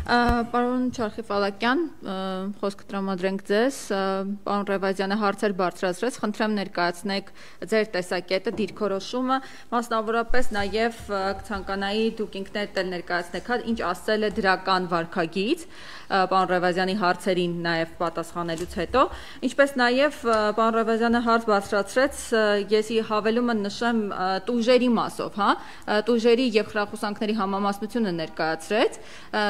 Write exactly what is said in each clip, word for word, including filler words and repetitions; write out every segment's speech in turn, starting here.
Պարոն Չարխիֆալակյան, խոսքը տրամադրենք ձեզ, պարոն Ռևազյանը հարցեր բարձրացրեց, խնդրեմ ներկայացնեք ձեր տեսակետը, դիրքորոշումը, մասնավորապես նաև կցանկանայի դուք ինքներդ էլ ներկայացնեք, ինչ ասել է դրական վարքագիծ, պարոն Ռևազյանի հարցերին նաև պատասխանելուց հետո, ինչպես նաև պարոն Ռևազյանը հարց բարձրացրեց, ես հավելումը նշեմ տուժերի մասով, տուժերի և խրախուսանքների համամասնությունը ներկայացրեց,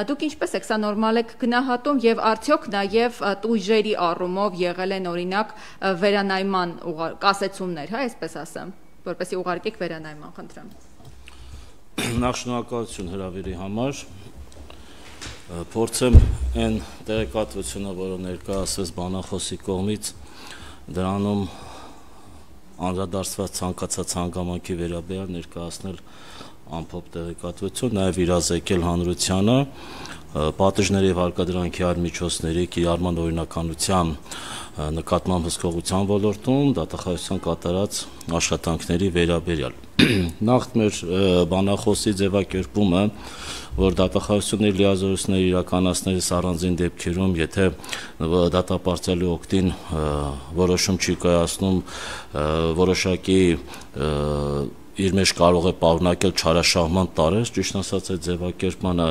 դուք ինչպես եք սա նորմալ եք գնահատում և արդյոք նաև տույժերի առումով եղել են օրինակ վերանայման կասեցումներ, այսպես ասեմ, որպեսզի ուղարկեք վերանայման, խնդրեմ։ Նախ շնորհակալություն հրավերի համար, փորձեմ այն տեղեկատվությունը, որը ներկայացվեց բանախոսի կողմից, դրանում անդրադարձված ցանկացած հանգամանքի վերաբերյալ ներկայացնել ամփոփ տեղեկատվություն, նաև իրազեկել հանրությանը պատժների և հարկադրանքի այլ միջոցների կիրառման օրինականության նկատմամբ հսկողության ոլորտում դատախազության կատարած աշխատանքների վերաբերյալ։ Նախ մեր բանախոսի ձևակերպումը, որ դատախազությունների լիազորությունները իրականացնելիս առանձին դեպքերում, եթե դատապարտյալի օգտին որոշում չի կայացնում, որոշակի իր մեջ կարող է պարունակել չարաշահման տարրեր, ճիշտն ասած այդ ձևակերպմանը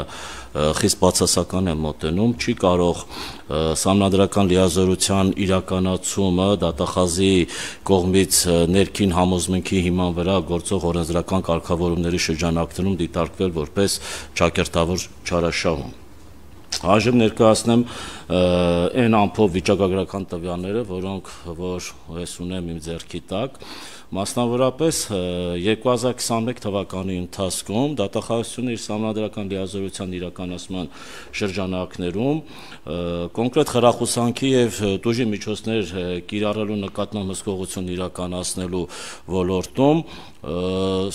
խիստ բացասական եմ մոտենում, չի կարող սահմանադրական լիազորության իրականացումը դատախազի կողմից ներքին համոզմունքի հիման վրա գործող օրենսդրական կարգավորումների շրջանակներում դիտարկվել որպես ճակերտավոր չարաշահում։ Այժմ ներկայացնեմ այն ամփոփ վիճակագրական տվյալները, որոնք որ ես ունեմ իմ ձեռքի տակ, մասնավորապես երկու հազար քսաներկու թվականի ընթացքում դատախազությունը իր սահմանադրական լիազորության իրականացման շրջանակներում կոնկրետ խրախուսանքի և տուժի միջոցներ կիրառելու նկատմամբ հսկողություն իրականացնելու ոլորտում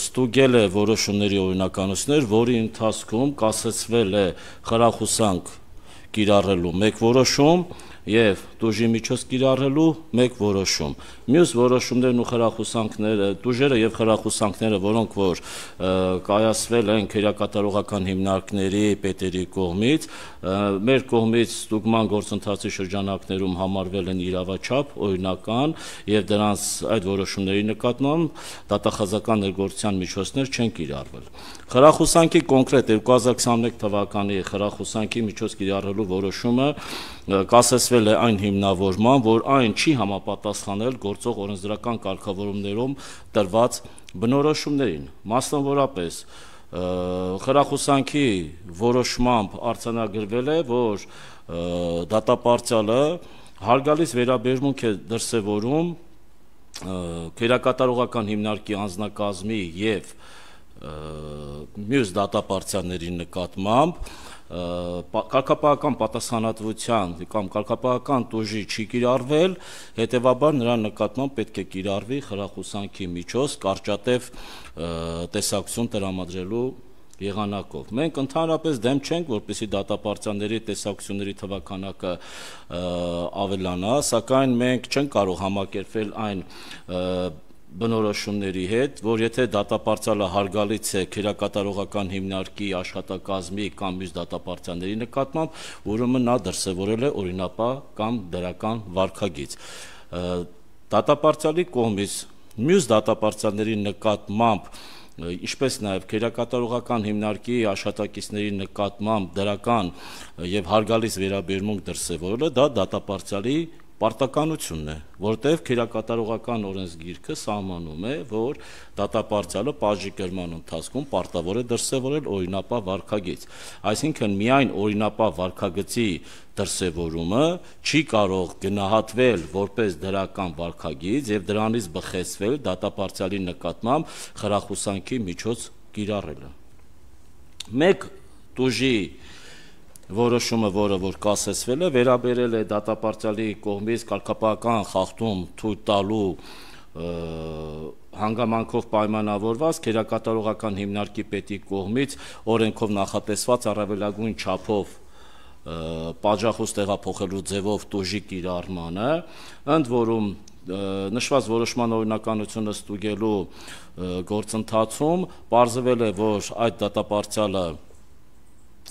ստուգել է որոշումների օրինականություններ, որի ընթացքում կասեցվել է խրախուսանք կիրառելու մեկ որոշում և տուժի միջոց կիրառելու մեկ որոշում։ Մյուս որոշումներն ու խրախուսանքները, տուժերը և խրախուսանքները, որոնք որ կայացվել են քերակատարողական հիմնարկների պետերի կողմից, մեր կողմից ստուգման գործընթացի շրջանակներում համարվել են իրավաչափ, օրինական և դրանց այդ որոշումների նկատմամբ դատախազական ներգործության միջոցներ չեն կիրառվել։ Խրախուսանքի կոնկրետ երկու հազար քսաներկու թվականի խրախուսանքի միջոց կիրառելու որոշումը կասեցվել է այն հիմնավորման, որ այն չի համապատասխանել գործող օրենսդրական կարգավորումներում տրված բնորոշումներին, մասնավորապես խրախուսանքի որոշմամբ արձանագրվել է, որ դատապարտյալը հարգալից վերաբերմունք է դրսևորում քերակատարողական հիմնարկի անձնակազմի և մյուս դատապարտյալների նկատմամբ կարգապահական պատասխանատվության կամ կարգապահական տուժի չի կիրառվել, հետևաբար նրա նկատմամբ պետք է կիրառվի խրախուսանքի միջոց կարճատև տեսակցություն տրամադրելու եղանակով։ Մենք ընդհանրապես դեմ չենք, որպեսզի դատապարտյալների տեսակցությունների թվաքանակը ավելանա, սակայն մենք չենք կարող համակերպվել այն բնորոշումների հետ, որ եթե դատապարտյալը հարգալից է քերակատարողական հիմնարկի աշխատակազմի կամ մյուս դատապարտյալների նկատմամբ, ուրեմն նա դրսևորել է օրինապահ կամ դրական վարքագիծ։ Դատապարտյալի կողմից մյուս դատապարտյալների նկատմամբ, ինչպես նաև քերակատարողական հիմնարկի աշխատակիցների նկատմամբ դրական և հարգալից վերաբերմունք դրսևորելը, դա դատապարտյալի պարտականությունն է, որտեղ քերակատարողական օրենսգիրքը սահմանում է, որ դատապարտյալը պատժի կրման ընթացքում պարտավոր է դրսևորել օրինապահ վարքագիծ։ Այսինքն միայն օրինապահ վարքագծի դրսևորումը չի կարող գնահատվել որպես դրական վարքագիծ և դրանից բխեցվել դատապարտյալի նկատմամբ խրախուսանքի միջոց կիրառելը։ Մեկ տուժի որոշումը, որը որ կասեցվել է, վերաբերել է դատապարտյալի կողմից կարգապահական խախտում թույլ տալու հանգամանքով պայմանավորված քերակատարողական հիմնարկի պետի կողմից օրենքով նախատեսված առավելագույն չափով պատժախոս տեղափոխելու ձևով տուժի կիրառմանը, ընդ որում նշված որոշման օրինականությունը ստուգելու գործընթացում պարզվել է, որ այդ դատապարտյալը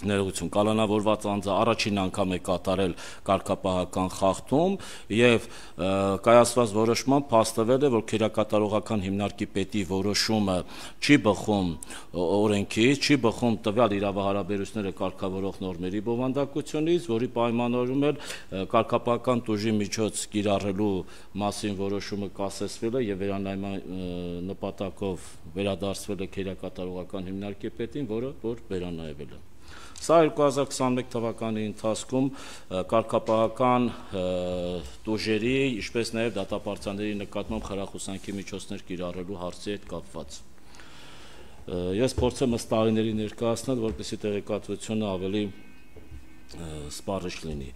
ներողություն, կալանավորված անձը առաջին անգամ է կատարել կարգապահական խախտում եւ կայացված որոշմամբ փաստվել է, որ քերակատարողական հիմնարկի պետի որոշումը չի բխում օրենքից, չի բխում տվյալ իրավահարաբերությունները կարգավորող նորմերի բովանդակությունից, որի պայմանավորում էլ կարգապահական տուժի միջոց կիրառելու մասին որոշումը կասեցվել է եւ վերանայման նպատակով վերադարձվել է քերակատարողական հիմնարկի պետին, որը որ վերանայվել է։ Սա երկու հազար քսաներեք թվականի ընթացքում կարգապահական տուժերի, ինչպես նաև դատապարտյալների նկատմամբ խրախուսանքի միջոցներ կիրառելու հարցի հետ կապված։ Ես փորձեմ ըստ տարիների ներկայացնել, որպեսզի տեղեկատվությունը ավելի սպառիչ լինի։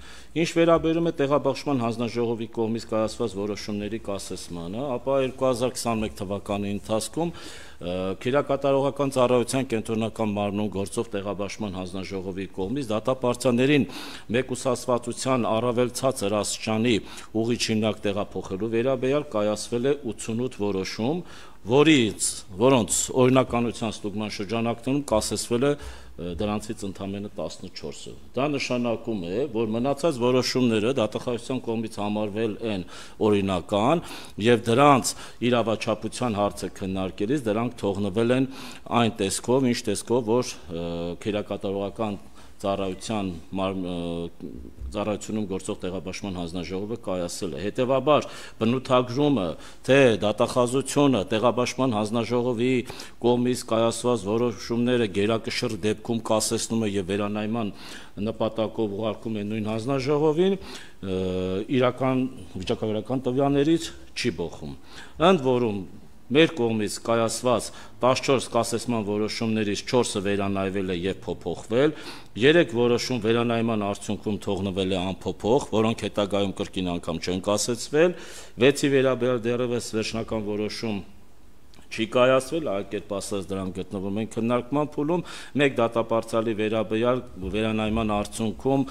Ինչ վերաբերում է տեղաբաշխման հանձնաժողովի կողմից կայացված որոշումների կասեցմանը, ապա երկու հազար քսաներեք թվականի ընթացքում քերակատարողական ծառայության կենտրոնական մարմնում գործող տեղաբաշխման հանձնաժողովի կողմից դատապարտյալներին մեկուսացվածության առավել ցածր աստիճանի ուղիչ հիմնարկ տեղափոխելու վերաբերյալ կայացվել է ութսունութ որոշում, որից որոնց օրինականության ստուգման շրջանակներում կասեցվել է դրանցից ընդամենը տասնչորսը։ Դա նշանակում է, որ մնացած որոշումները դատախազության կողմից համարվել են օրինական եւ դրանց իրավաչափության հարցը քննարկելիս դրանք թողնվել են այն տեսքով, ինչ տեսքով, որ քերակատարողական ծառայության ծառայությունում գործող տեղաբաշխման հանձնաժողովը կայացել է։ Հետևաբար բնութագրումը, թե դատախազությունը տեղաբաշխման հանձնաժողովի կողմից կայացված որոշումները գերակշռ դեպքում կասեցնում է եւ վերանայման նպատակով ուղարկում է նույն հանձնաժողովին, իրական վիճակագրական տվյալներից չի բխում։ Ընդ որում մեր կողմից կայացված տասնչորս կասեցման որոշումներից չորսը վերանայվել է եւ փոփոխվել, երեք որոշում վերանայման արդյունքում թողնվել է անփոփոխ, որոնք հետագայում կրկին անգամ չեն կասեցվել, վեցի վերաբերյալ դեռևս վերջնական որոշում չի կայացվել, այլ կերպ ասած դրանք գտնվում են քննարկման փուլում, մեկ դատապարտյալի վերաբերյալ վերանայման արդյունքում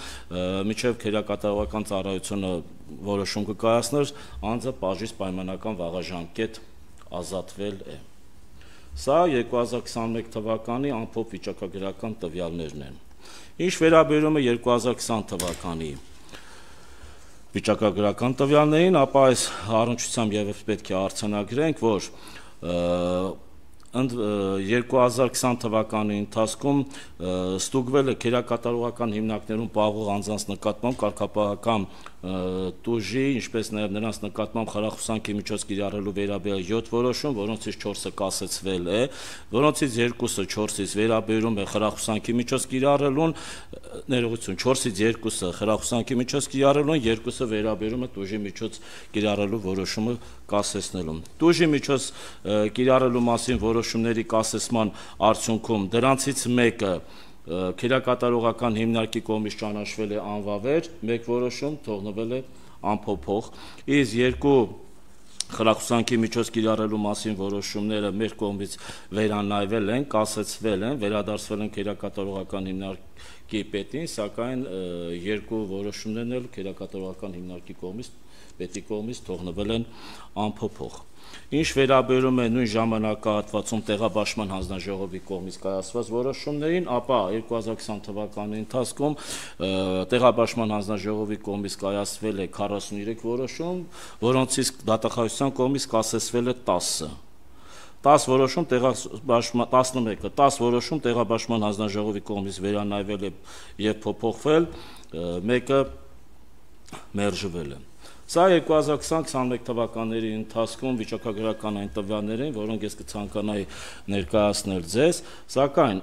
միջև քերակատարողական ծառայությունը որոշում կկայացներ, անձը պաժից պայմանական վաղաժամկետ ազատվել է։ Սա երկու հազար քսաներեք թվականի ամփոփ վիճակագրական տվյալներն են։ Ինչ վերաբերում է երկու հազար քսան թվականի վիճակագրական տվյալներին, ապա այս առնչությամբ եւս պետք է արձանագրենք, որ երկու հազար քսան թվականի ընթացքում ստուգվել է քերակատարողական հիմնարկներում պահվող անձանց նկատմամբ կարգապահական տուժի, ինչպես նաև նրանց նկատմամբ խրախուսանքի միջոց կիրառելու վերաբերյալ յոթ որոշում, որոնցից չորսը կասեցվել է, որոնցից երկուսը չորսից վերաբերում է խրախուսանքի միջոց կիրառելուն, ներողություն, չորսից երկուսը խրախուսանքի միջոց կիրառելուն, երկուսը վերաբերում է տուժի միջոց կիրառելու որոշումը կասեցնելուն։ Տուժի միջոց կիրառելու մասին որոշումների կասեցման արդյունքում դրանցից մեկը քերակատարողական հիմնարկի կողմից ճանաչվել է անվավեր, մեկ որոշում թողնվել է անփոփոխ, իսկ երկու խրախուսանքի միջոց կիրառելու մասին որոշումները մեր կողմից վերանայվել են, կասեցվել են, վերադարձվել են քերակատարողական հիմնարկի պետին, սակայն երկու որոշումներն էլ քերակատարողական հիմնարկի կողմից պետի կողմից թողնվել են անփոփոխ։ Ինչ վերաբերում է նույն ժամանակահատվածում տեղաբաշխման հանձնաժողովի կողմից կայացված որոշումներին, ապա երկու հազար քսան թվականի ընթացքում տեղաբաշխման հանձնաժողովի կողմից կայացվել է քառասուններեք որոշում, որոնցից դատախազության կողմից կասեցվել է տասը։ տասը որոշում տեղաբաշխման տասնմեկը, տասը որոշում տեղաբաշխման հանձնաժողովի կողմից վերանայվել է եւ փոփոխվել, մեկը մերժվել է։ Սա երկու հազար քսան քսաներեք թվականների ընթացքում վիճակագրական այն տվյալներ են, որոնք ես կցանկանայի ներկայացնել ձեզ, սակայն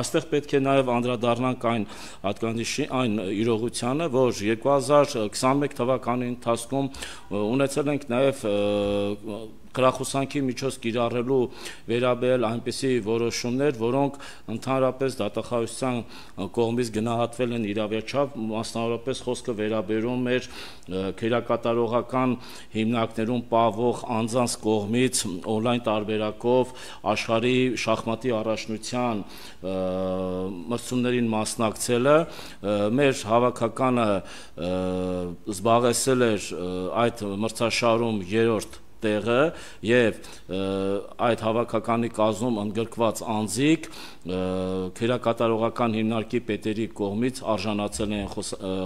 այստեղ պետք է նաև անդրադառնանք այն հատկանիշի, այն իրողությանը, որ երկու հազար քսաներեք թվականի ընթացքում ունեցել ենք նաև խրախուսանքի միջոց կիրառելու վերաբերյալ այնպիսի որոշումներ, որոնք ընդհանրապես դատախազության կողմից գնահատվել են իրավաչափ, մասնավորապես խոսքը վերաբերում էր քերակատարողական հիմնարկներում պահվող անձանց կողմից օնլայն տարբերակով աշխարհի շախմատի առաջնության մրցումներին մասնակցելը, մեր հավաքականը զբաղեցել էր այդ մրցաշարում երրորդ տեղը եւ այդ հավաքականի կազմում ընդգրկված անձիկ քերակատարողական հիմնարկի պետերի կողմից արժանացել են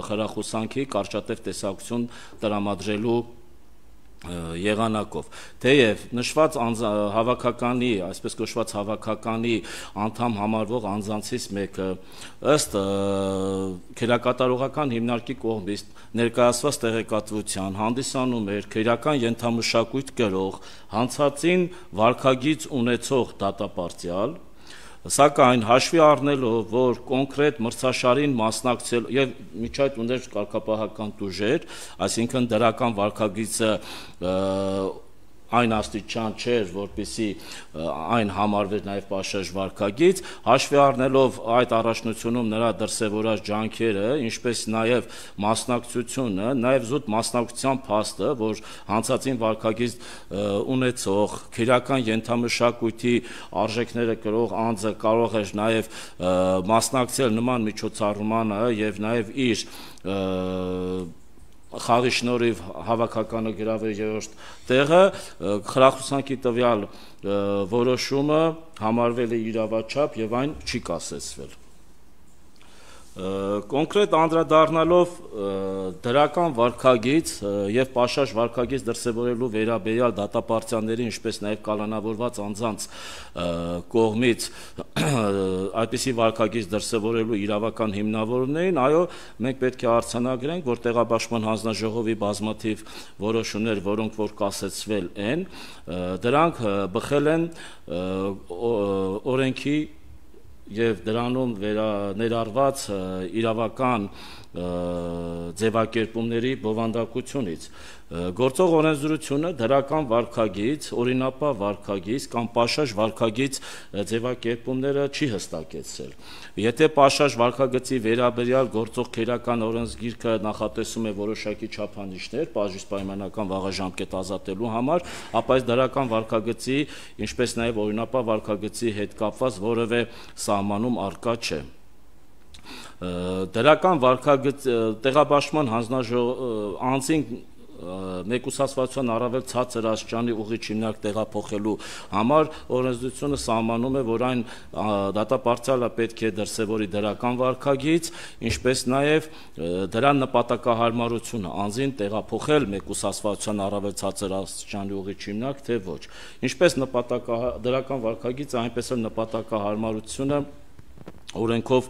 խրախուսանքի կարճատև տեսակցություն տրամադրելու եղանակով թեև նշված հավաքականի, այսպես կոչված հավաքականի անդամ համարվող անձանցից մեկը ըստ քերակատարողական հիմնարկի կողմից ներկայացված տեղեկատվության հանդիսանում էր քերական ենթամշակույթ կրող հանցածին վարքագիծ ունեցող դատապարտյալ, սակայն հաշվի առնելով, որ կոնկրետ մրցաշարին մասնակցել եւ միջայդ ուներ կարգապահական տուժեր, այսինքն դրական վարքագիծը այն աստիճան չէր, որպեսզի այն համարվեր նաև պաշարժ վարքագիծ, հաշվի առնելով այդ առաջնությունում նրա դրսևորած ջանքերը, ինչպես նաև մասնակցությունը, նաև զուտ մասնակցության փաստը, որ հանցածին վարքագիծ ունեցող քերական ենթամշակույթի արժեքները կրող անձը կարող էր նաև մասնակցել նման միջոցառմանը եւ նաև իր խաղի շնորհիվ հավաքականը գրավել երրորդ տեղը, խրախուսանքի տվյալ որոշումը համարվել է իրավաչափ եւ այն չի կասեցվել։ Կոնկրետ անդրադառնալով դրական վարքագիծ եւ պաշարժ վարքագիծ դրսեւորելու վերաբերյալ դատապարտյալների, ինչպես նաեւ կալանավորված անձանց կողմից այդպիսի վարքագիծ դրսեւորելու իրավական հիմնավորումներին, այո, մենք պետք է արձանագրենք, որ տեղաբաշխման հանձնաժողովի բազմաթիվ որոշումներ, որոնք որ կասեցվել են, դրանք բխել են օրենքի եւ դրանում ներառված իրավական ձևակերպումների բովանդակությունից գործող օրենսդրությունը դրական վարքագիծ, օրինապահ վարքագիծ կամ պաշարժ վարքագիծ ձևակերպումները չի հստակեցրել։ Եթե պաշարժ վարքագծի վերաբերյալ գործող քերական օրենսգիրքը նախատեսում է որոշակի չափանիշներ պաշարժ պայմանական վաղաժամկետ ազատելու համար, ապա այս դրական վարքագծի, ինչպես նաև օրինապահ վարքագծի հետ կապված որևէ սահմանում առկա չէ։ Դրական վարքագծ տեղաբաշխման հանձնաժողով անձին մեկուսացվածության առավել ցածր աստիճանի ուղիչ հիմնարկ տեղափոխելու համար օրենսդրությունը սահմանում է, որ այն դատապարտյալը պետք է դրսևորի դրական վարքագիծ, ինչպես նաև դրա նպատակահարմարությունը անձին տեղափոխել մեկուսացվածության առավել ցածր աստիճանի ուղիչ հիմնարկ, թե ոչ։ Ինչպես դրական վարքագիծը, այնպես էլ նպատակահարմարությունը օրենքով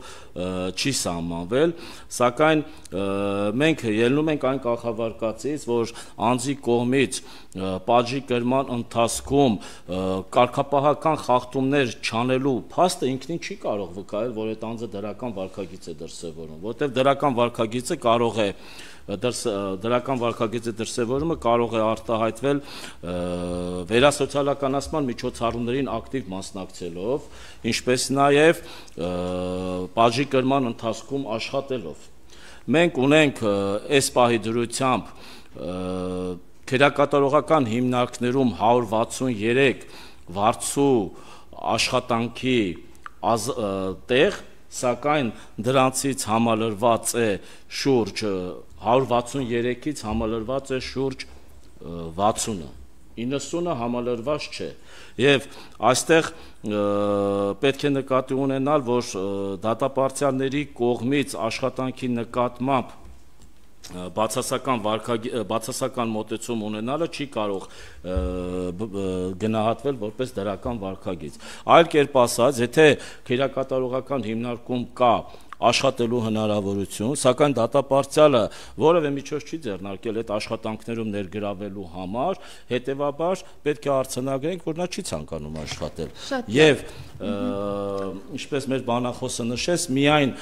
չի սահմանվել, սակայն մենք ելնում ենք այն կարգավարկածից, որ անձի կողմից պատժի կրման ընթացքում կարգապահական խախտումներ չանելու փաստը ինքնին չի կարող վկայել, որ այդ անձը դրական վարքագիծ է դրսևորում, որտեղ դրական վարքագիծը կարող է դրական վարքագծի դրսևորումը կարող է արտահայտվել վերասոցիալականացման միջոցառումներին ակտիվ մասնակցելով, ինչպես նաև պատժի կրման ընթացքում աշխատելով։ Մենք ունենք այս պահի դրությամբ քերակատարողական հիմնարկներում հարյուր վաթսուներեք վարձու աշխատանքի տեղ, սակայն դրանցից համալրված է շուրջ հարյուր վաթսուներեքից համալրված է շուրջ վաթսունը, իննսունը համալրված չէ, եւ այստեղ պետք է նկատի ունենալ, որ դատապարտյալների կողմից աշխատանքի նկատմամբ բացասական բացասական մոտեցում ունենալը չի կարող գնահատվել որպես դրական վարքագիծ։ Այլ կերպ ասած, եթե քերակատարողական հիմնարկում կա աշխատելու հնարավորություն, սակայն դատապարտյալը որևէ միջոց չի ձեռնարկել այդ աշխատանքներում ներգրավելու համար, հետևաբար պետք է արձանագրենք, որ նա չի ցանկանում աշխատել։ Եվ ինչպես մեր բանախոսը նշեց, միայն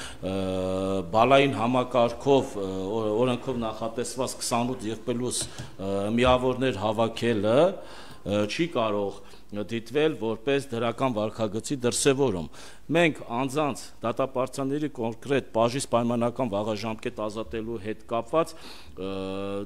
բալային համակարգով օրենքով նախատեսված քսանութ եւ պլյուս միավորներ հավաքելը չի կարող դիտվել որպես դրական վարքագծի դրսևորում։ Մենք անձանց դատապարտյալների կոնկրետ բաժիս պայմանական վաղաժամկետ ազատելու հետ կապված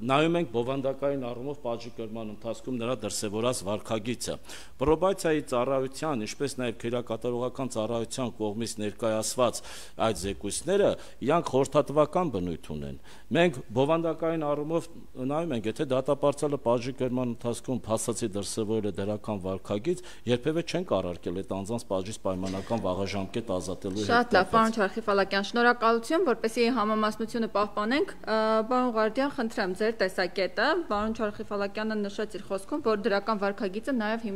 նայում ենք բովանդակային առումով պատժի կրման ընթացքում նրա դրսևորած վարքագիծը։ Պրոբացիայի ծառայության, ինչպես նաև քրեակատարողական ծառայության կողմից ներկայացված այդ զեկույցները իրանք խորհրդատվական բնույթ ունեն։ Մենք բովանդակային առումով նայում ենք, եթե դատապարտյալը պատժի կրման ընթացքում փաստացի դրսևորել է դրական վարքագիծ, երբևէ չենք առարկել այդ անձանց պատժից պայմանական վաղաժամկետ ազատելու հետ կապված։ Շատ լավ, պարոն Չարխիֆալակյան, շնորհակալություն, որպեսզի համամասնությունը պահպանենք, պարոն Ղարդյան, խնդրեմ ձեր տեսակետը, պարոն Չարխիֆալակյանը նշեց իր խոսքում, որ դրական վարքագիծը նաև հիմնավորվում